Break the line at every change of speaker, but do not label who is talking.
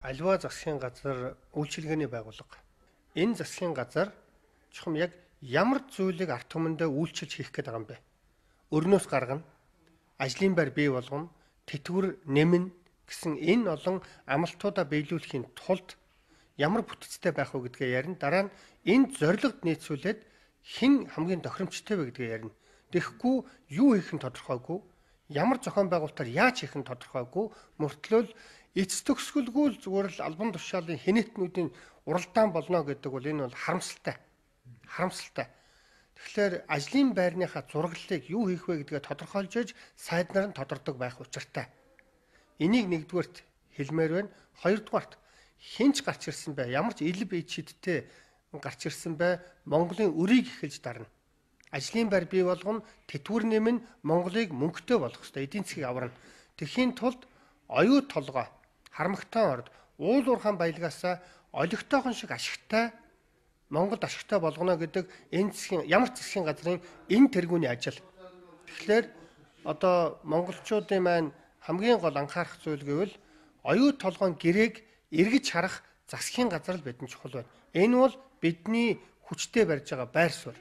Аливаа засгийн газар үйлчилгээний байгууллага. Энэ засгийн газар чухам яг ямар зүйлийг ард түмэндээ үйлчилж хийх гээд байгаа юм бэ? Өрнөөс гаргана, ажлын байр бий болгоно, тэтгэвэр нэмнэ гэсэн энэ олон амлалтуудаа биелүүлэхийн тулд ямар бүтцтэй байх вэ гэдгээ ярина. Дараа нь энд зорилгод нийцүүлээд хэн хамгийн тохиромжтой вэ гэдгээ ярина. Тэгэхгүй юу хийх нь тодорхойгүй, ямар зохион байгуулалтаар яаж хийх нь тодорхойгүй, мөртлөө эц төгсгөлгүй л зүгээр л албан тушаалын хинэтнүүдийн уралдаан болно гэдэг бол энэ бол харамсалтай. Харамсалтай. Тэгэхээр ажлын байрныхаа зураглалыг юу хийх вэ гэдгээ тодорхойлж иж сайд нар нь тодордог байх учиртай. Энийг нэгдүгээрт хэлмээр байна. Хоёрдугаарт хинч гарч ирсэн бай, ямар ч ил бие чидтэй гарч ирсэн бай, Монголын өрийг эхэлж дарна. Ажлын байр бий болгоно, тэтгэвэр нэмнэ, Монголыг мөнгөтэй болгох ёстой, эдийн засгийг аварна. Тэхийн тулд оюу толгой, харамгтайн орд, уул уурхайн баялгаасаа олигтойхон шиг ашигтай Монголд ашигтай болгоно гэдэг энэ засгийн ямар засгийн газрын энэ тэргүүний ажил. Тэгэхээр одоо монголчуудын маань хамгийн гол анхаарах зүйл гэвэл оюу толгойн гэрээг эргэж харах засгийн газар л бидэнд чухал байна. Энэ бол бидний хүчтэй барьж байгаа байр суурь.